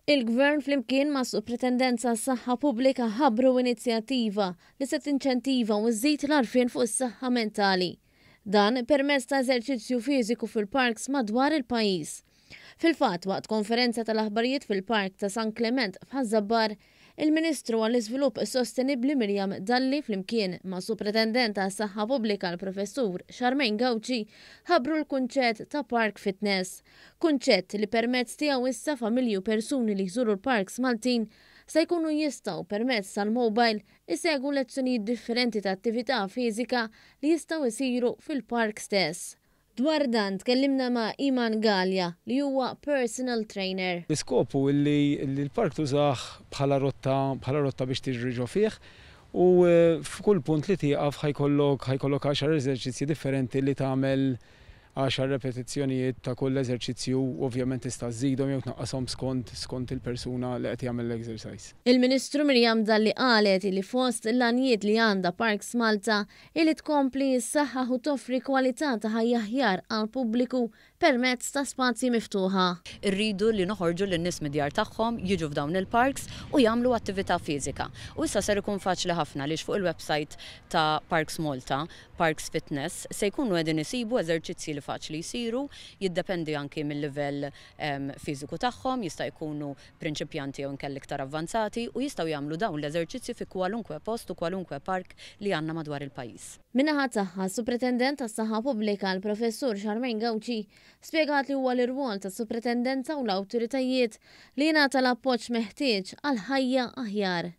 Il-Gvern flimkien mas-Supretendenza għas-Saħħa Pubblika ħabbru inizjattiva li se tinċentiva u żżid l-għarfien fuq is-saħħa mentali. Dan permezz ta' eżerċizzju fiżiku fil-parks madwar il-pajjiż. Fil-fatt, waqt konferenza tal-aħbarijiet fil-Park ta' San Klement f'Ħaż-Żabbar, il-Ministru għall-Iżvilupp Sostenibbli Miriam Dalli flimkien mas-Supretendent għas-Saħħa Pubblika l-Professur Charmaine Gauci ħabbru l-kunċett ta' Park Fitness. Kunċett li permezz tiegħu issa familji u persuni li jżuru l-parks Maltin se jkunu jistgħu permezz tal-mobile isegwu lezzjonijiet differenti ta' attività fiżika li jistgħu jsiru fil-park stess. Dwar dan tkellimna ma' Iman Galea li huwa personal trainer. L-iskop hu li l-park tużah bħala rotta bħala rotta biex tiġri ġo fih u f'kull punt li tieqaf ħa jkollok ħa jkollok għaxar eżerċizzji differenti li tagħmel għaxar repetizzjonijiet ta' kull eżerċizzju u ovvjament tista' żżidhom jew tnaqqashom skont skont il-persuna li qed jagħmel l-exercise. Il-Ministru Miriam Dalli qalet li fost l-għanijiet li għandha Parks Malta hi li tkompli ssaħħaħ u toffri kwalità ta' ħajja aħjar għall-pubbliku permezz ta' spazji miftuħa. Irridu li noħorġu lin-nies mid-djar tagħhom, jiġu f'dawn il-parks u jagħmlu attività fiżika. U issa ser ikun faċli ħafna għaliex fuq il-website ta' Parks Malta, Parks Fitness, se jkunu qegħdin isibu eżerċizzji li faċli jsiru, jiddependi anki mil-livell fiżiku tagħhom, jista' jkunu prinċipjanti jew inkella iktar avvanzati u jistgħu jagħmlu dawn l-eżerċizzji fi kwalunkwe post u kwalunkwe park li għandna madwar il-pajjiż. Min-naħa tagħha, s-Supretendent tas-Saħħa Pubblika, l-Professur Charmaine Gauci, spjegat li huwa l-irwol tas-Supretendenza u l-awtoritajiet li jingħata l-appoġġ meħtieġ għal ħajja aħjar.